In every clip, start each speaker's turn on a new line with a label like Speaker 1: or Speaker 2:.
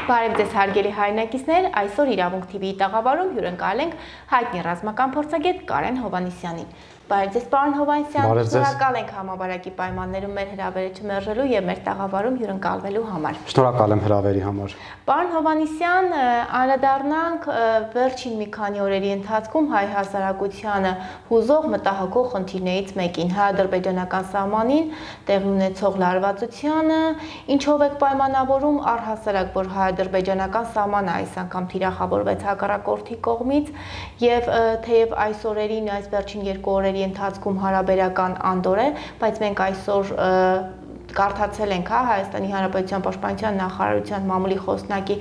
Speaker 1: Բարև ձեզ հարգելի հայրենակիցներ, այսօր Իրավունք TV-ի տաղավարում հյուրընկալ ենք հայտնի ռազմական փորձագետ Կարեն Հովհաննիսյանին։ Բարև ձեզ, պարոն Հովհաննիսյան, շնորհակալ ենք համավարակի պայմաններում մեր հրավերը չմերժելու եւ մեր տաղավարում հյուրընկալվելու համար։
Speaker 2: Շնորհակալ եմ հրավերի համար։
Speaker 1: Պարոն Հովհաննիսյան, անդրադառնանք վերջին մի քանի օրերի ընթացքում հայ հասարակությանը հուզող մտահոգող խնդիրներից մեկին՝ հայ-ադրբեջանական սահմանին տեղի ունեցող լարվածությանը, ինչով եք պայմանավորում առհասարակ, որ հայ-ադրբեջանական սահմանը այս անգամ թիրախավորվեց հակառակորդի կողմից եւ թեև այս օրերին, այս վերջին 2 օրերի ընթացքում հարաբերական անդոր է, բայց մենք այսօր կարդացել ենք Հայաստանի Հանրապետության Պաշտպանության նախարարության մամուլի խոսնակի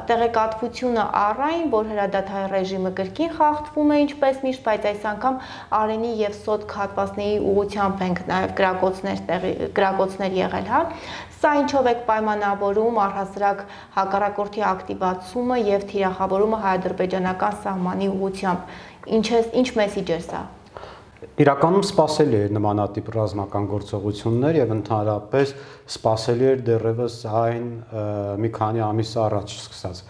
Speaker 1: տեղեկատվությունը առայն, որ հրադադարի ռեժիմը կրկին խախտվում է ինչպես միշտ, բայց այս անգամ Արենի եւ Սոտք հատվածների ուղղությամբ ենք նաեւ գրակոծներ եղել, Սա ինչով եք պայմանավորում առհասարակ հակառակորդի ակտիվացումը եւ թիրախավորումը հայ-ադրբեջանական սահմանի ուղղությամբ։ Ինչ մեսիջ է սա։
Speaker 2: Իրականում սպասելի էր նմանատիպ ռազմական գործողություններ եւ ընդհանրապես սպասելի էր դեռևս այն մի քանի ամիս առաջ սկսած։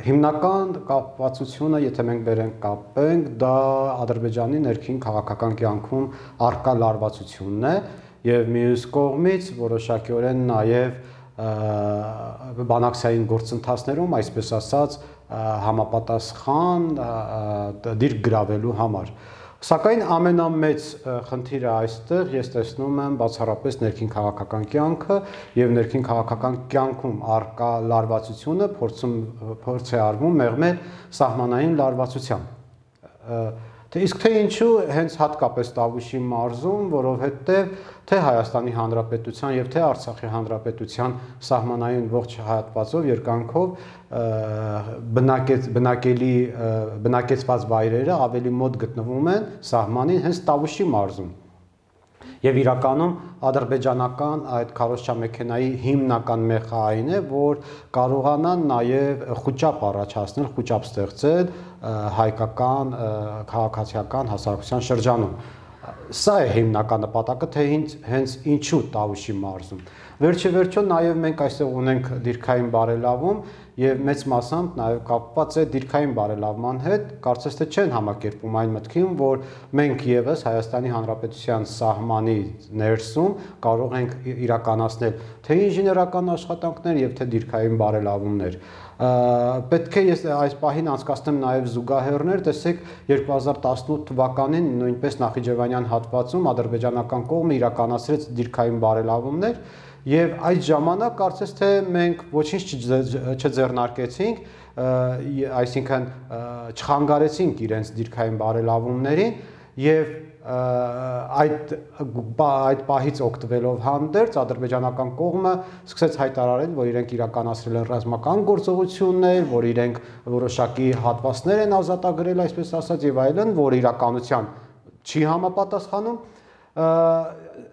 Speaker 2: Հիմնական կապվածությունը, եթե մենք վերենք կապենք, դա Ադրբեջանի ներքին քաղաքական կյանքում առկա լարվածությունն է եւ մյուս կողմից որոշակիորեն նաեւ բանակցային գործընթացներում, այսպես ասած, համապատասխան դիրք գրավելու համար։ Սակայն ամենամեծ խնդիրը այստեղ ես տեսնում եմ բացառապես ներքին քաղաքական կյանքը եւ ներքին քաղաքական կյանքում առկա լարվածությունը փորձ է արվում մեղմել սահմանային լարվածությամբ։ Իսկ թե ինչու հենց հատկապես Տավուշի մարզում, որովհետև թե Հայաստանի Հանրապետության եւ թե Արցախի Հանրապետության սահմանային ողջ հատվածով երկայնքով բնակեցված վայրերը ավելի մոտ գտնվում են սահմանին հենց Տավուշի մարզում։ Եվ իրականում ադրբեջանական այդ քարոզչամեքենայի հիմնական մեխը այն է, որ կարողանան նաև խուճապ առաջացնել, խուճապ ստեղծել հայկական քաղաքացիական հասարակության շրջանում։ Սա է հիմնական նպատակը, թե հենց ինչու Տավուշի մարզում։ Վերջիվերջո նաև մենք այստեղ ունենք դիրքային բարելավում եւ մեծ մասամբ նաև կապված է դիրքային բարելավման հետ, կարծես թե չեն համակերպում այն մտքին, որ մենք եւս Հայաստանի Հանրապետության սահմանի ներսում կարող ենք իրականացնել թե ինժեներական աշխատանքներ եւ թե դիրքային բարելավումներ։ Պետք է ես այս պահին անցկացնեմ նաև զուգահեռներ, տեսեք 2018 թվականին նույնպես Նախիջևանյան հատվածում ադրբեջանական կողմը իրականացրեց դիրքային բարելավումներ եւ այդ ժամանակ կարծես թե մենք ոչինչ չձեռնարկեցինք, այսինքն չխանգարեցինք իրենց դիրքային բարելավումներին եւ այդ պահից օգտվելով հանդերձ ադրբեջանական կողմը սկսեց հայտարարել, որ իրենք իրականացրել են ռազմական գործողություններ, որ իրենք որոշակի հատվածներ են ազատագրել, այսպես ասած, եւ այլն, որ իրականության չի համապատասխանում։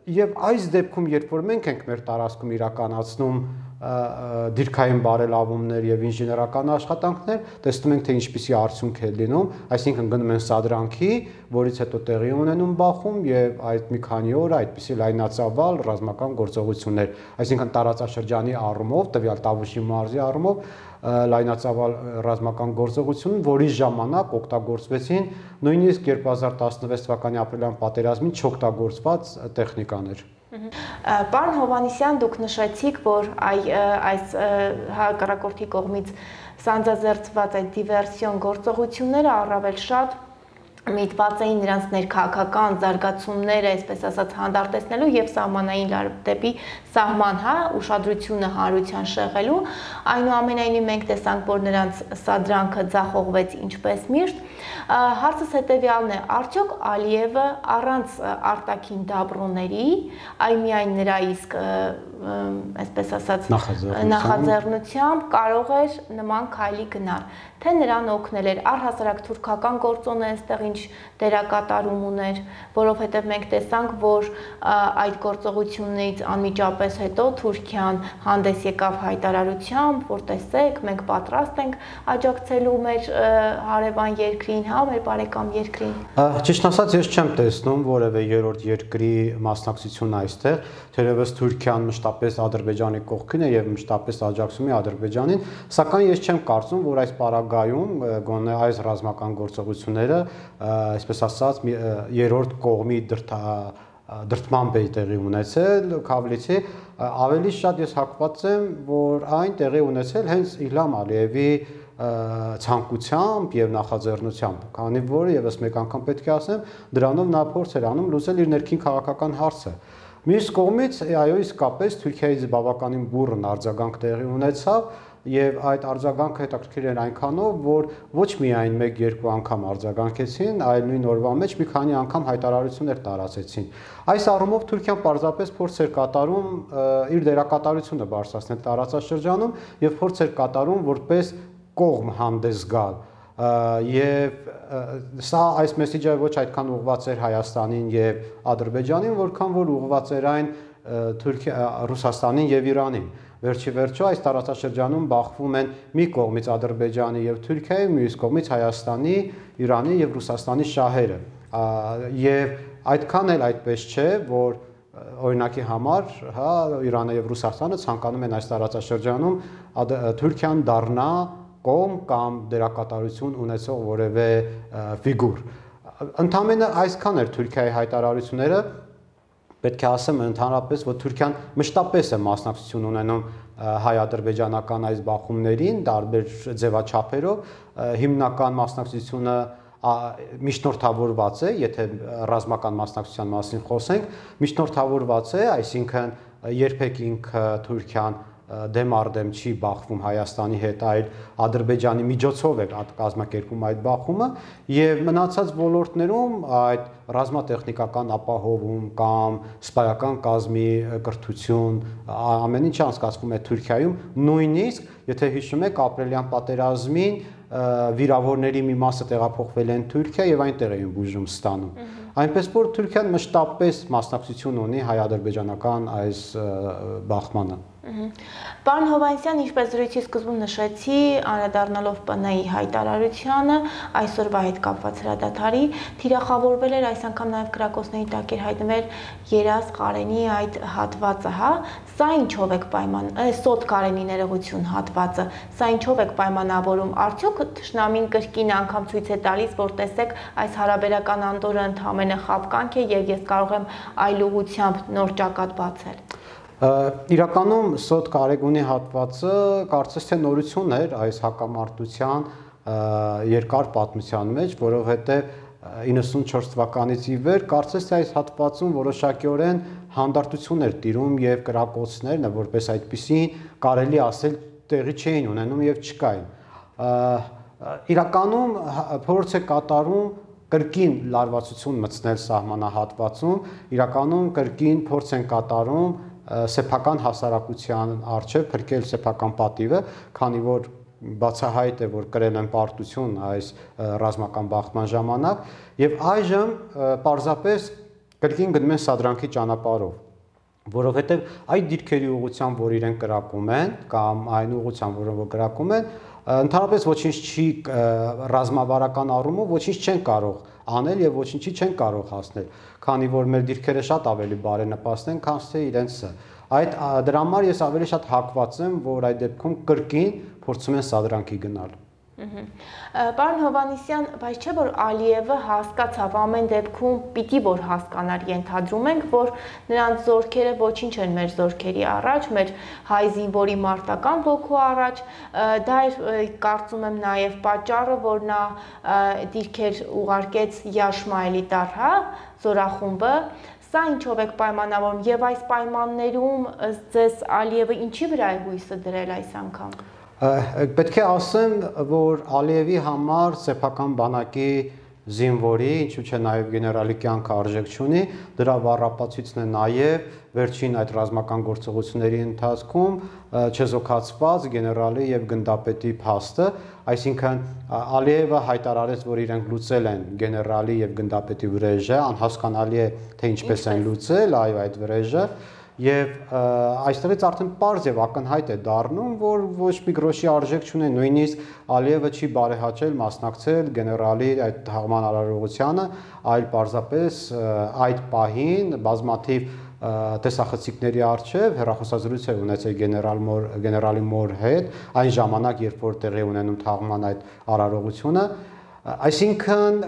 Speaker 2: Եվ այս դեպքում, երբ որ մենք ենք մեր տարածքում իրականացնում դիրքային բարելավումներ եւ ինժեներական աշխատանքներ, տեսնում ենք թե ինչպիսի արդյունք է լինում, այսինքն գնում են սադրանքի, որից հետո տեղի ունենում բախում եւ այդ մի քանի օր այդպիսի լայնածավալ ռազմական գործողություններ, այսինքն տարածաշրջանի առումով, տվյալ Տավուշի մարզի առումով լայնածավալ ռազմական գործողություն, որի ժամանակ օգտագործվեցին նույնիսկ 2016 թվականի ապրիլյան պատերազմին չօգտագործված տեխնիկաներ։
Speaker 1: Պարոն Հովհաննիսյան, դուք նշեցիք, որ այս հակառակորդի կողմից սանձազերծված այդ դիվերսիոն գործողությունները առավել շատ միտված էին նրանց ներքաղաքական զարգացումները, այսպես ասած, հանդարտեցնելու եւ սահմանային դեպի սահման, ուշադրությունը հանրության շեղելու, այնուամենայնիվ մենք տեսանք, որ նրանց սադրանքը ձախողվեց ինչպես միշտ։ Հարցս հետեւյալն է, արդյոք Ալիևը առանց արտաքին դաբրոների, այլ միայն նրա իսկ այսպես ասած նախաձեռնությամբ կարող էր նման քայլի գնալ, թե նրան օգնել էր առհասարակ թուրքական գործոնը այստեղ ինչ դերակատարում ուներ, որովհետև մենք տեսանք, որ այդ գործողություններից անմիջապես հետո Թուրքիան հանդես եկավ հայտարարությամբ, որ տեսեք, մենք պատրաստ ենք աջակցելու մեր հարևան երկրին, մեր բարեկամ երկրին։
Speaker 2: Ճիշտ ասած, ես չեմ տեսնում որևէ երրորդ երկրի մասնակցություն այստեղ, թերևս Թուրքիան մշտապես Ադրբեջանի կողքին է եւ մշտապես աջակցում է Ադրբեջանին, սակայն ես չեմ կարծում, որ այս պարագայում գոնե այս ռազմական գործողությունները, այսպես ասած, երրորդ կողմի դրդմամբ է տեղի ունեցել, Քավլիցի ավելի շատ ես հակված եմ, որ այն տեղի ունեցել հենց Իլհամ Ալիևի ցանկությամբ եւ նախաձեռնությամբ, քանի որ եւս մեկ անգամ պետք է ասեմ, դրանով նա փորձ էր անում լուծել իր ներքին քաղաքական հարցը։ Մյուս կողմից, այո, իսկապես Թուրքիայից բավականին բուռն արձագանք տեղի ունեցավ եւ այդ արձագանքը հետաքրքիր էր այնքանով, որ ոչ միայն 1-2 անգամ արձագանքեցին, այլ նույն օրվա մեջ մի քանի անգամ հայտարարություններ տարածեցին։ Այս առումով Թուրքիան պարզապես փորձ էր կատարում իր դերակատարությունը բարձրացնել տարածաշրջանում եւ փորձ էր կատարում որպես կողմ հանդես գալ եւ սա այս մեսեջը ոչ այդքան ուղղված էր Հայաստանին եւ Ադրբեջանին, որքան որ ուղղված էր այն Ռուսաստանին եւ Իրանին։ Վերջի վերջո այս տարածաշրջանում բախվում են մի կողմից Ադրբեջանի եւ Թուրքիայի, մյուս կողմից Հայաստանի, Իրանի եւ Ռուսաստանի շահերը։ Եվ այդքան էլ այդպես չէ, որ օրինակի համար, հա, Իրանը եւ Ռուսաստանը ցանկանում են այս տարածաշրջանում Թուրքիան դառնա կողմ կամ դերակատարություն ունեցող որևէ ֆիգուր։ Ընդամենը այսքան էր Թուրքիայի հայտարարությունները, պետք է ասեմ ընդհանրապես, որ Թուրքիան մշտապես է մասնակցություն ունենում հայ-ադրբեջանական այս բախումներին, տարբեր ձևաչափերով, հիմնական մասնակցությունը միջնորդավորված է, եթե ռազմական մասնակցության մասին խոսենք, միջնորդավորված է, այսինքն երբեք ինքը Թուրքիան դեմ առ դեմ չի բախվում Հայաստանի հետ, այլ Ադրբեջանի միջոցով է կազմակերպում այդ բախումը եւ մնացած ոլորտներում այդ ռազմատեխնիկական ապահովում կամ սպայական կազմի կրթություն ամեն ինչ անցկացվում է Թուրքիայում, նույնիսկ եթե հիշում եք ապրիլյան պատերազմին վիրավորների մի մասը տեղափոխվել են Թուրքիա եւ այնտեղ էին բուժում ստանում։ Այնպես որ Թուրքիան մշտապես մասնակցություն ունի հայ-ադրբեջանական այս բախմանը։
Speaker 1: Պարոն Հովհաննիսյան, ինչպես զրույցի սկզբում նշեցի, անդրադառնալով ՊՆ-ի հայտարարությանը, այսօրվա հետ կապված հրադադարի, թիրախավորվել էր այս անգամ նաև կրակոցների տակ էր հայտնվել Երազ Ղարենի այդ հատվածը, հա, սա ինչով եք Սոտ Ղարենի ներողություն հատվածը, սա ինչով եք պայմանավորում, արդյոք թշնամին կրկին անգամ ցույց է տալիս, որ տեսեք այս հարաբերական անդորը ընդհանրապես խաբկանք է եւ ես կարող եմ այլ ուղղությամբ նոր ճակատ բացել։
Speaker 2: Իրականում Սոտ Ղարենի հատվածը կարծես թե նորություն էր այս հակամարտության երկար պատմության մեջ, որովհետև 94 թվականից ի վեր կարծես թե այս հատվածում որոշակիորեն հանդարտություն էր տիրում եւ կրակոցներն, որպես այդպիսի կարելի ասել տեղի չէին ունենում եւ չկային։ Իրականում փորձ է կատարում կրկին լարվածություն մտցնել սահմանահատվածում, իրականում կրկին փորձ են կատարում սեփական հասարակության առջև փրկել սեփական պատիվը, քանի որ բացահայտ է, որ կրել են պարտություն այս ռազմական բախման ժամանակ, եւ այժմ պարզապես կրկին գնում են սադրանքի ճանապարհով, որովհետեւ այդ դիրքերի ուղղությամբ, որ իրեն կրակում են, կամ այն ուղղությամբ, որով կրակում են, ընդհանրապես ոչինչ չի ռազմավարական առումով ոչինչ չեն կարող անել եւ ոչինչի չեն կարող հասնել, քանի որ մեր դիրքերը շատ ավելի բարենպաստ են, քան թե իրենցը։ Դրա համար ես ավելի շատ հակված եմ, որ այդ դեպքում կրկին փորձում են սադրանքի գնալ։
Speaker 1: Պարոն Հովհաննիսյան, բայց չէ որ Ալիևը հասկացավ ամեն դեպքում պիտի որ հասկանար, ենթադրում ենք, որ նրանց զորքերը ոչինչ են մեր զորքերի առաջ, մեր հայ զինվորի մարտական ոգու առաջ, դա էր կարծում եմ նաև պատճառը, որ նա դիրքեր ուղարկեց Յաշմայելի տար, հա, զորախումբը, սա ինչով եք պայմանավորում եւ այս պայմաններում ձեզ Ալիևը ինչի վրա է հույսը դրել այս անգամ։
Speaker 2: Պետք է ասեմ, որ Ալիևի համար սեփական բանակի զինվորի, ինչու՞ չէ նաև գեներալի կյանքը արժեք չունի, դրա վառապացույցն է նաև վերջին այդ ռազմական գործողությունների ընթացքում չեզոքացված գեներալի եւ գնդապետի փաստը, այսինքն Ալիևը հայտարարեց, որ իրենք լուծել են գեներալի եւ գնդապետի վրեժը, անհասկանալի է թե ինչպես են լուծել, այո, այդ վրեժը Եվ այստեղից արդեն պարզ եւ ակնհայտ է դառնում, որ ոչ մի գրոշի արժեք չունեն, նույնիսկ Ալիևը չի բարեհաճել մասնակցել գեներալի այդ թաղման արարողությանը, այլ պարզապես այդ պահին բազմաթիվ տեսախցիկների առջև հեռախոսազրույց է ունեցել գեներալի մոր հետ, այն ժամանակ, երբ որ տեղի ունենում թաղման այդ արարողությունը, այսինքն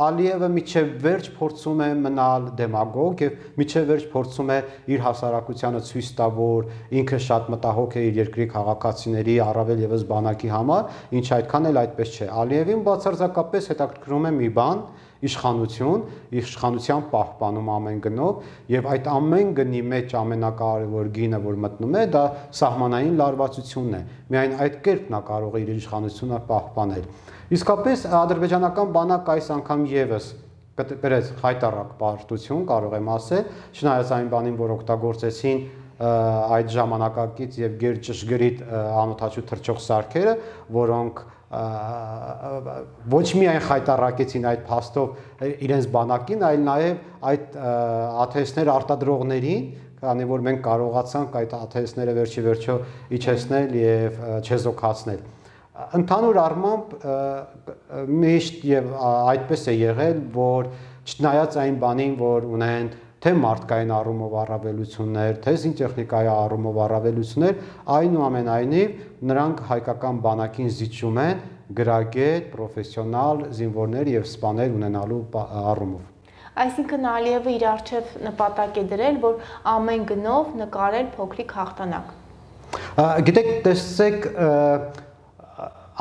Speaker 2: Ալիևը միջև վերջ փորձում է մնալ դեմագոգ եւ միջև վերջ փորձում է իր հասարակությանը ցույց տա, որ ինքը շատ մտահոգ է իր երկրի քաղաքացիների, առավել եւս բանակի համար, ինչը այդքան էլ այդպես չէ։ Ալիևին բացարձակապես հետաքրքրում է մի բան՝ իշխանության պահպանում ամեն գնով եւ այդ ամեն գնի մեջ ամենակարևոր գինը, որ մտնում է, դա սահմանային լարվածությունն է։ Միայն այդ կերպ նա կարող է իր իշխանությունը պահպանել։ Իսկապես ադրբեջանական բանակը այս անգամ եւս կրեց խայտառակ պարտություն, կարող եմ ասել, չնայած այն բանին, որ օգտագործեցին այդ ժամանակակից եւ գերճշգրիտ անօթաչու թռչող սարքերը, որոնք ոչ միայն խայտառակեցին այդ փաստով իրենց բանակին, այլ նաեւ այդ ԱԹՍ-ներ արտադրողներին, քանի որ մենք կարողացանք այդ ԱԹՍ-ները վերջի վերջո իջեցնել եւ չեզոքացնել։ Ընդհանուր առմամբ միշտ եւ այդպես է եղել, որ չնայած այն բանին, որ ունեն թե մարդկային առումով առավելություններ, թե զինտեխնիկայի առումով առավելություններ, այնուամենայնիվ նրանք հայկական բանակին զիջում են գրագետ, պրոֆեսիոնալ զինվորներ եւ սպաներ ունենալու առումով։
Speaker 1: Այսինքն Ալիևը իր առջև նպատակ է դրել, որ ամեն գնով նկարել փոքրիկ հաղթանակ։
Speaker 2: Գիտեք, տեսեք,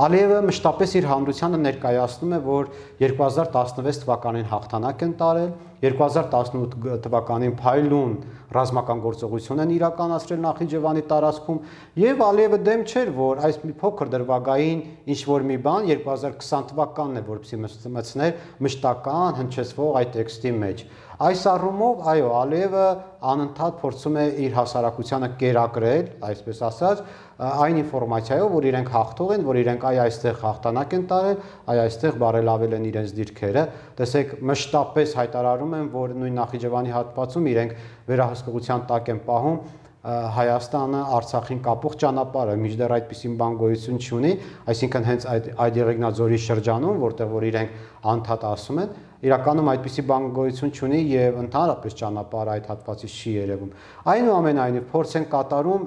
Speaker 2: Ալիևը մշտապես իր հանրությանը ներկայացնում է, որ 2016 թվականին հաղթանակ են տարել, 2018 թվականին փայլուն ռազմական գործողություն են իրականացրել Նախիջևանի տարածքում եւ Ալիևը դեմ չէր, որ այս մի փոքր դրվագային ինչ որ մի բան 2020 թվականն է, որպեսզի մտցներ մշտական հնչեցվող այդ տեքստի մեջ։ Այս առումով, այո, Ալիևը անընդհատ փորձում է իր հասարակությանը կերակրել, այսպես ասած, այն ինֆորմացիայով, որ իրենք հաղթող են, որ իրենք այստեղ հաղթանակ են տարել, այստեղ բարելավել են իրենց դիրքերը։ Տեսեք, մշտապես հայտարարում են, որ նույն Նախիջևանի հատվածում իրենք վերահսկողության տակ են պահում Հայաստանը Արցախին կապող ճանապարհը, մինչդեռ այդպիսին բան գոյություն չունի, այսինքն հենց այդ Եղեգնաձորի շրջանում, որտեղ որ իրենք անդադ ասում են, իրականում այդպիսի բան գոյություն չունի եւ ընդհանրապես ճանապարհը այդ հատվածից չի երևում։ Այնուամենայնիվ փորձ են կատարում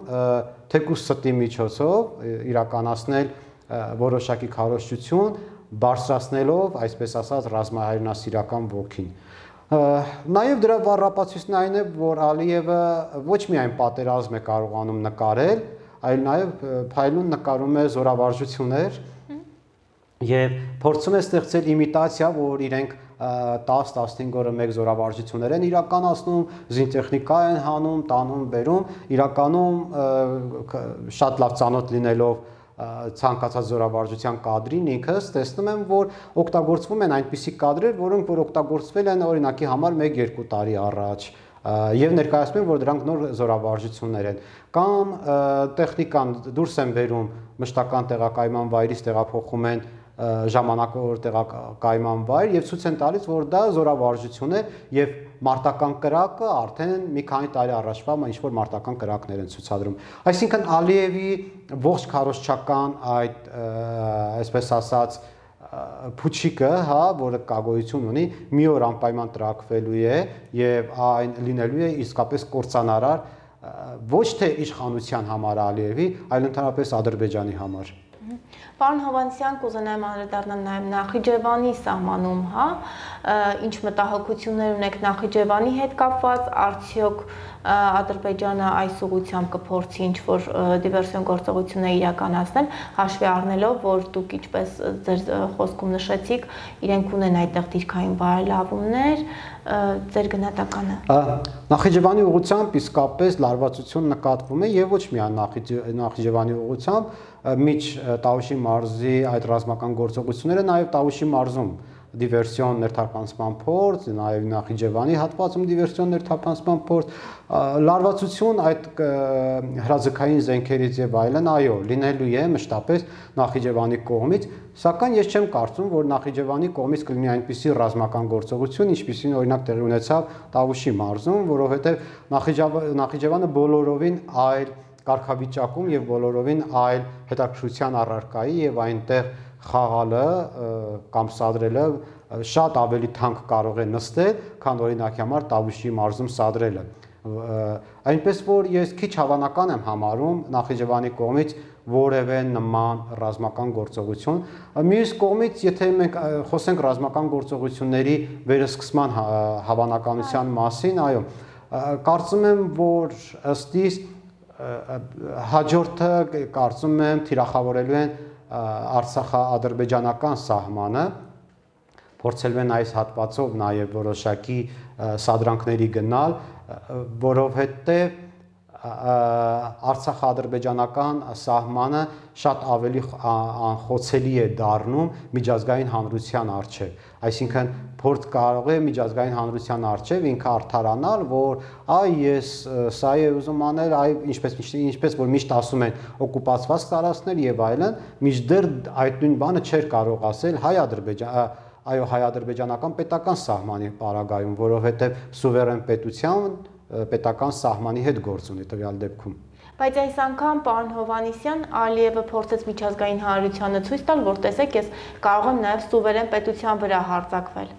Speaker 2: թեկուզ ստի միջոցով իրականացնել որոշակի քարոզչություն, բարձրացնելով, այսպես ասած, ռազմահայրենասիրական ոգին։ Նաև դրա վառապացույցն այն է, որ Ալիևը ոչ միայն պատերազմ է կարողանում նկարել, այլ նաև փայլուն նկարում է զորավարժություններ եւ փորձում է ստեղծել իմիտացիա, որ իրենք 10-15 օրը մեկ զորավարժություններ են իրականացնում, զինտեխնիկա են հանում, տանում, բերում, իրականում շատ լավ ծանոթ լինելով ցանկացած զորավարժության կադրին ինքս տեսնում եմ, որ օգտագործվում են այնպիսի կադրեր, որոնք որ օգտագործվել են օրինակի համար 1-2 տարի առաջ եւ ներկայացնում են, որ դրանք նոր զորավարժություններ են կամ տեխնիկան դուրս են բերում մշտական տեղակայման վայրից տեղափոխում են ժամանակավոր տեղակայման վայր եւ ցույց են տալիս, որ դա զորավարժություն է եւ մարտական կրակը արդեն մի քանի տարի առաջվա ինչ որ մարտական կրակներ են ցուցադրում։ Այսինքն Ալիևի ողջ քարոզչական այդ այսպես ասած փուչիկը, հա, որը կագոյություն ունի, մի օր անպայման տրակվելու է եւ այն լինելու է իսկապես կործանարար ոչ թե իշխանության համար Ալիևի, այլ ընդհանրապես Ադրբեջանի համար։
Speaker 1: Պարոն Հովհաննիսյան, կուզենայեմ անդրադառնալ նաև Նախիջևանի սահմանում, հա, ինչ մտահոգություններ ունեք Նախիջևանի հետ կապված, արդյոք Ադրբեջանը այս ուղղությամբ կփորձի ինչ-որ դիվերսիոն գործողություններ իրականացնել, հաշվի առնելով, որ դուք ինչպես ձեր խոսքում նշեցիք, իրենք ունեն այդտեղ դիրքային բարելավումներ, ձեր գնահատականը։
Speaker 2: Նախիջևանի ուղղությամբ իսկապես լարվածություն նկատվում է եւ ոչ միայն Նախիջևանի ուղղությամբ, միջ Տավուշի մարզի այդ ռազմական գործողությունները նաեւ Տավուշի մարզում դիվերսիոն ներթափանցման փորձ, նաև Նախիջևանի հատվածում դիվերսիոն ներթափանցման փորձ, լարվածություն այդ հրաձգային զենքերից եւ այլն, այո, լինելու է մշտապես Նախիջևանի կողմից, սակայն ես չեմ կարծում, որ Նախիջևանի կողմից կլինի այնպիսի ռազմական գործողություն, ինչպիսին օրինակ տեղի ունեցավ Տավուշի մարզում, որովհետեւ Նախիջևանը բոլորովին այլ կարգավիճակում եւ բոլորովին այլ հետաքրքրության առարկայի եւ այնտեղ խաղալը կամ սադրելը շատ ավելի թանկ կարող է նստել, քան օրինակի համար Տավուշի մարզում սադրելը։ Այնպես որ ես քիչ հավանական եմ համարում Նախիջևանի կողմից որևէ նման ռազմական գործողություն։ Մյուս կողմից, եթե մենք խոսենք ռազմական գործողությունների վերսկսման հավանականության մասին, այո, կարծում եմ, որ ըստ իս հաջորդը կարծում եմ թիրախավորելու են Արցախա-ադրբեջանական սահմանը, փորձելու են այս հատվածով նաև որոշակի սադրանքների գնալ, որովհետև Արցախա-ադրբեջանական սահմանը շատ ավելի անխոցելի է դառնում միջազգային հանրության առջև, այսինքն փորձ կարող է միջազգային հանրության առջև ինքը արդարանալ, որ ես սա է ուզում անել, ինչպես որ միշտ ասում են օկուպացված տարածքներ եւ այլն, մինչդեռ այդ նույն բանը չէր կարող ասել հայ-ադրբեջանական պետական սահմանի պարագայում, որովհետեւ սուվերեն պետության պետական սահմանի հետ գործ ունի տվյալ դեպքում։
Speaker 1: Բայց այս անգամ պարոն Հովհաննիսյան Ալիևը փորձեց միջազգային հանրությանը ցույց տալ, որ տեսեք, ես կարող եմ նաև սուվերեն պետության վրա հարձակվել։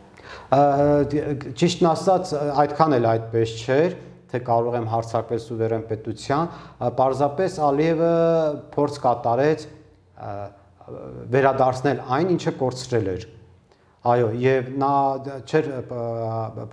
Speaker 2: Ճիշտն ասած, այդքան էլ այդպես չէր, թե կարող եմ հարձակվել սուվերեն պետության, պարզապես Ալիևը փորձ կատարեց վերադարձնել այն, ինչը կորցրել էր։ Այո, եւ նա չէր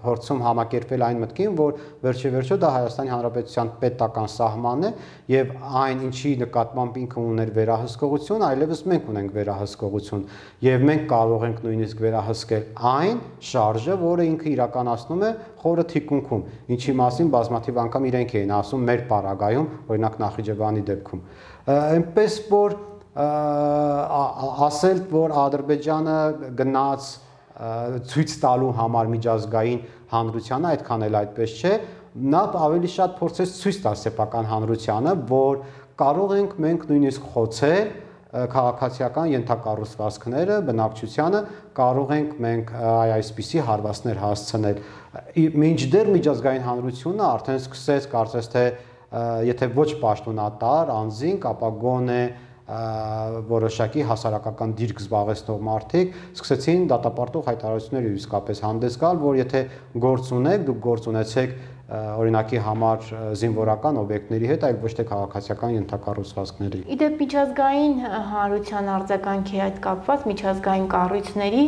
Speaker 2: փորձում համակերպել այն մտքին, որ վերջեվերջո դա Հայաստանի Հանրապետության պետական սահմանն է եւ այն ինչի նկատմամբ ինքը ուներ վերահսկողություն, այլևս մենք ունենք վերահսկողություն եւ մենք կարող ենք նույնիսկ վերահսկել այն շարժը, որը ինքը իրականացնում է խորը թիկունքում, ինչի մասին բազմաթիվ անգամ իրենք էին ասում մեր պարագայում, օրինակ Նախիջևանի դեպքում։ Այնպես որ ասել, որ Ադրբեջանը գնաց ցույց տալու համար միջազգային հանրությանը, այդքան էլ այդպես չէ, նա ավելի շատ փորձեց ցույց տալ սեփական հանրությանը, որ կարող ենք մենք նույնիսկ խոցել քաղաքացիական ենթակառուցվածքները, բնակչությանը, կարող ենք մենք այսպիսի հարվածներ հասցնել։ Մինչդեռ միջազգային հանրությունը արդեն սկսեց, կարծես թե եթե ոչ պաշտոնատար անձինք, ապա գոնե որոշակի հասարակական դիրք զբաղեցնող մարդիկ սկսեցին դատապարտող հայտարարություններ իսկապես հանդես գալ, որ եթե գործ ունեք, դուք գործ ունեցեք օրինակի համար զինվորական օբյեկտների հետ, այլ ոչ թե քաղաքացիական ենթակառուցվածքների։
Speaker 1: Իդեպ միջազգային հանրության արձագանքի հետ կապված միջազգային կառույցների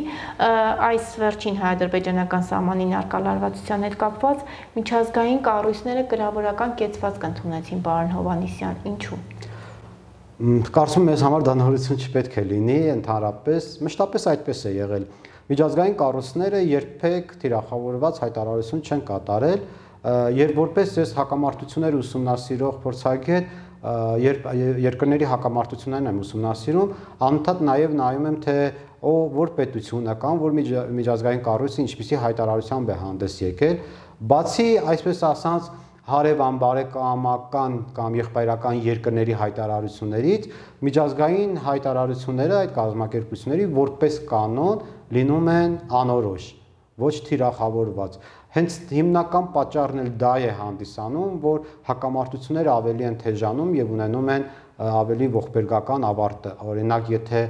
Speaker 1: այս վերջին հայ-ադրբեջանական սահմանին առկա լարվածության հետ կապված միջազգային կառույցները կրավորական կեցվածք ընդունեցին, պարոն Հովհաննիսյան, ինչու։
Speaker 2: Կարծում եմ ես համար դա նորություն չպետք է լինի, ընդհանրապես մշտապես այդպես է եղել։ Միջազգային կառույցները երբեք թիրախավորված հայտարարություն չեն կատարել, երբ որպես ես հակամարտություններ ուսումնասիրող փորձագետ, երբ երկրների հակամարտություններն եմ ուսումնասիրում, անընդհատ նաև նայում եմ, թե որ պետությունը կամ որ միջազգային կառույցը ինչպիսի հայտարարությամբ է հանդես եկել, բացի այսպես ասած հարևան-բարեկամական կամ եղբայրական երկրների հայտարարություններից միջազգային հայտարարությունները այդ կազմակերպությունների որպես կանոն լինում են անորոշ, ոչ թիրախավորված։ Հենց հիմնական պատճառն էլ դա է հանդիսանում, որ հակամարտությունները ավելի են թեժանում եւ ունենում են ավելի ողբերգական ավարտ։ Օրինակ, եթե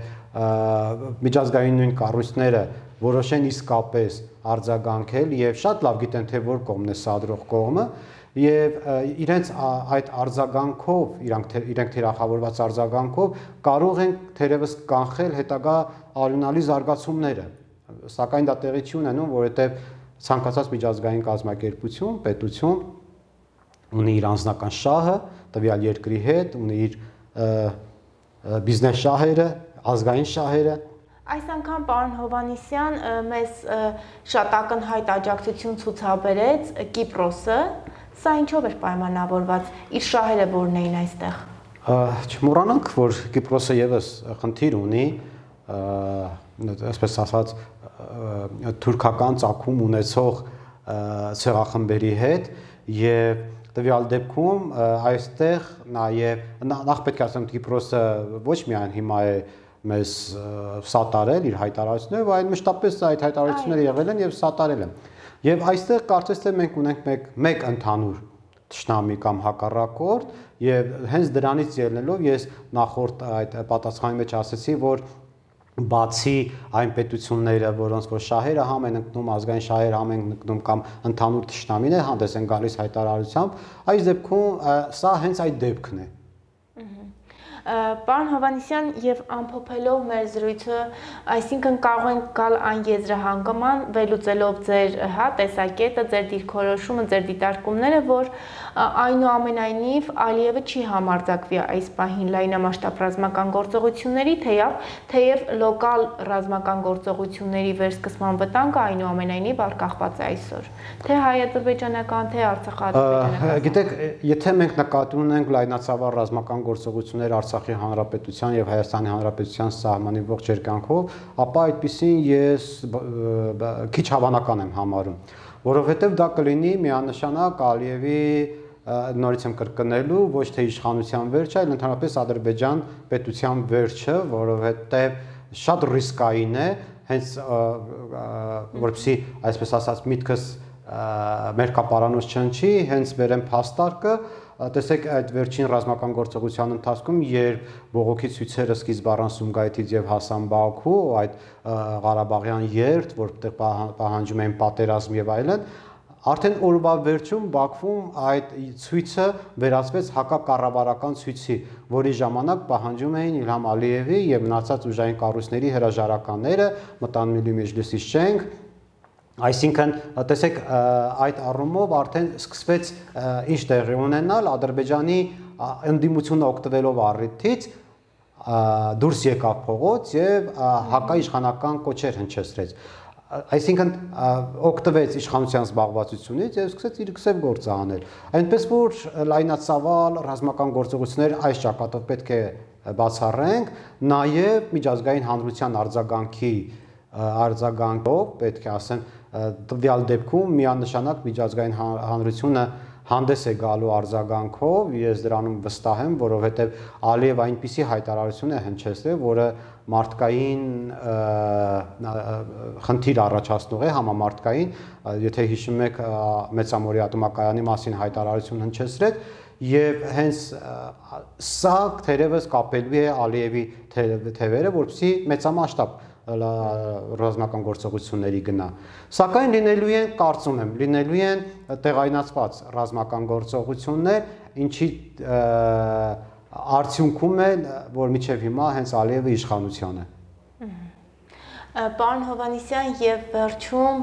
Speaker 2: միջազգային նույն կառույցները որոշեն իսկապես արձագանքել եւ շատ լավ գիտեն, թե որ կողմն է սադրող կողմը, եւ իրենց այդ արձագանքով, իրենք թիրախավորված արձագանքով կարող են թերևս կանխել հետագա արյունալի զարգացումները, սակայն դա տեղի չի ունենում, որովհետեւ ցանկացած միջազգային կազմակերպություն, պետություն ունի իր անձնական շահը տվյալ երկրի հետ, ունի իր բիզնես շահերը, ազգային շահերը։
Speaker 1: Այս անգամ պարոն Հովհաննիսյան մեզ շատ ակնհայտ աջակցություն ցուցաբերեց Կիպրոսը, սա ինչով էր պայմանավորված, իր շահերը որն էին այստեղ։
Speaker 2: Չմոռանանք, որ Կիպրոսը եւս խնդիր ունի, այսպես ասած, թուրքական ծագում ունեցող ցեղախմբերի հետ եւ տվյալ դեպքում այստեղ նաեւ նախ պետք է ասեմ Կիպրոսը ոչ միայն հիմա է մեզ սատարել իր հայտարարությունները, այլ մշտապես այդ հայտարարությունները եղել են եւ սատարել են։ Եվ այստեղ կարծես թե մենք ունենք մեկ ընդհանուր թշնամի կամ հակառակորդ եւ հենց դրանից ելնելով ես նախորդ այդ պատասխանի մեջ ասացի, որ բացի այն պետությունները, որոնց որ շահերը համ են ընկնում, ազգային շահերը համ են ընկնում կամ ընդհանուր թշնամիներ հանդես են գալիս հայտարարությամբ, այս դեպքում սա հենց այդ դեպքն է։
Speaker 1: Պարոն Հովհաննիսյան, եւ ամփոփելով մեր զրույցը, այսինքն կարող ենք գալ այն եզրահանգման, վերլուծելով ձեր տեսակետը, ձեր դիրքորոշումը, ձեր դիտարկումները, որ այնուամենայնիվ Ալիևը չի համարձակվի այս պահին լայնամասշտաբ ռազմական գործողությունների, թեև լոկալ ռազմական գործողությունների վերսկսման վտանգը այնուամենայնիվ արկախված է այսօր, թե հայ-ադրբեջանական, թե արցախա-ադրբեջանական։
Speaker 2: Գիտեք, եթե մենք նկատի ունենք լայնածավալ ռազմական գործողություններ Արցախի Հանրապետության եւ Հայաստանի Հանրապետության սահմանի ողջ երկայնքով, ապա այդպեսին ես քիչ հավանական եմ համարում, որովհետեւ դա կլինի միանշանակ Ալիևի նորից եմ կրկնելու ոչ թե իշխանության վերջը, այլ ընդհանրապես Ադրբեջան պետության վերջը, որովհետեւ շատ ռիսկային է, հենց որպեսզի այսպես ասած միտքս մերկապարանոց չընչի, հենց վերեմ փաստարկը, տեսեք այդ վերջին ռազմական գործողության ընթացքում, երբ բողոքի ցույցերը սկիզբ առան Սումգայիթից եւ հասան Բաքու, այդ Ղարաբաղյան երթ, որտեղ պահանջում էին պատերազմ եւ այլն, արդեն օրվա վերջում Բաքվում այդ ցույցը վերածվեց հակակառավարական ցույցի, որի ժամանակ պահանջում էին Իլհամ Ալիևի եւ մնացած ուժային կառույցների հրաժարականները, մտան Միլի Մեջլիսի շենք, այսինքն տեսեք այդ առումով արդեն սկսվեց ինչ տեղի ունենալ Ադրբեջանի ընդդիմությունը օգտվելով առիթից դուրս եկավ փողոց եւ հակաիշխանական կոչեր հնչեցրեց, այսինքն օգտվեց իշխանության զբաղվածությունից եւ սկսեց իր քսև գործը անել, այնպես որ լայնածավալ ռազմական գործողություններ այս ճակատով պետք է բացառենք, նաեւ միջազգային հանրության արձագանքով պետք է ասեմ տվյալ դեպքում միանշանակ միջազգային հանրությունը հանդես է գալու արձագանքով, ես դրանում վստահ եմ, որովհետև Ալիև այնպիսի հայտարարություն է հնչեցրել, որը մարդկային խնդիր առաջացնող է, համամարտկային, եթե հիշում եք Մեծամորի ատոմակայանի մասին հայտարարություն հնչեցրեց, եւ հենց սա թերևս կապելու է Ալիևի թևերը, որպեսզի մեծամասշտաբ ռազմական գործողությունների գնա, սակայն լինելու են, կարծում եմ, լինելու են տեղայնացված ռազմական գործողություններ, ինչի արդյունքում է, որ մինչև հիմա հենց Ալիևը իշխանության է։
Speaker 1: Պարոն Հովհաննիսյան, եւ վերջում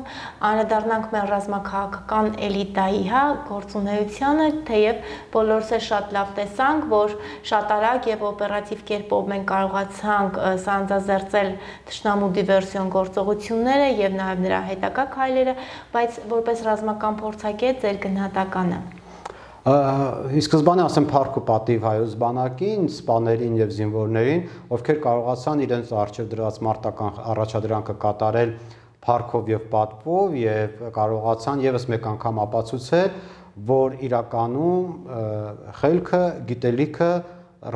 Speaker 1: անդրադառնանք մեր ռազմաքաղաքական էլիտայի գործունեությանը, թեև բոլորս էլ շատ լավ տեսանք, որ շատ արագ եւ օպերատիվ կերպով մենք կարողացանք սանձազերծել թշնամու դիվերսիոն գործողությունները եւ նաեւ նրա հետագա քայլերը, բայց որպես ռազմական փորձագետ ձեր գնահատականը։
Speaker 2: Ի սկզբանե ասեմ փառք ու պատիվ հայոց բանակին, սպաներին եւ զինվորներին, ովքեր կարողացան իրենց առջև դրած մարտական առաջադրանքը կատարել փառքով եւ պատվով եւ կարողացան եւս մեկ անգամ ապացուցել, որ իրականում խելքը, գիտելիքը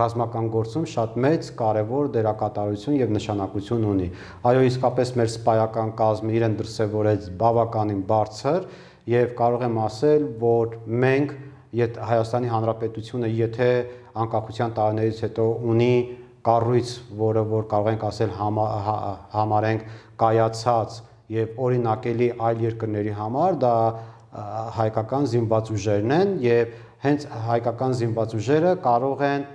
Speaker 2: ռազմական գործում շատ մեծ կարևոր դերակատարություն եւ նշանակություն ունի։ Այո, իսկապես մեր սպայական կազմը իրեն դրսևորեց բավականին բարձր եւ կարող եմ ասել, որ մենք Հայաստանի Հանրապետությունը, եթե անկախության տարիներից հետո ունի կառույց, որը որ կարող ենք ասել համարենք կայացած եւ օրինակելի այլ երկրների համար, դա հայկական զինված ուժերն են եւ հենց հայկական զինված ուժերը կարող են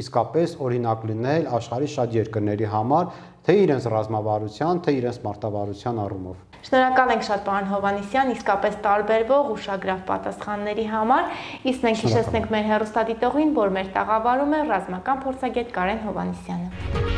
Speaker 2: իսկապես օրինակ լինել աշխարհի շատ երկրների համար, թե իրենց ռազմավարության, թե իրենց մարտավարության առումով։
Speaker 1: Շնորհակալ ենք շատ պարոն Հովհաննիսյան, իսկապես տարբերվող ուշագրավ պատասխանների համար, իսկ մենք հիշեցնենք մեր հեռուստադիտողին, որ մեր տաղավարում է ռազմական փորձագետ Կարեն Հովհաննիսյանը։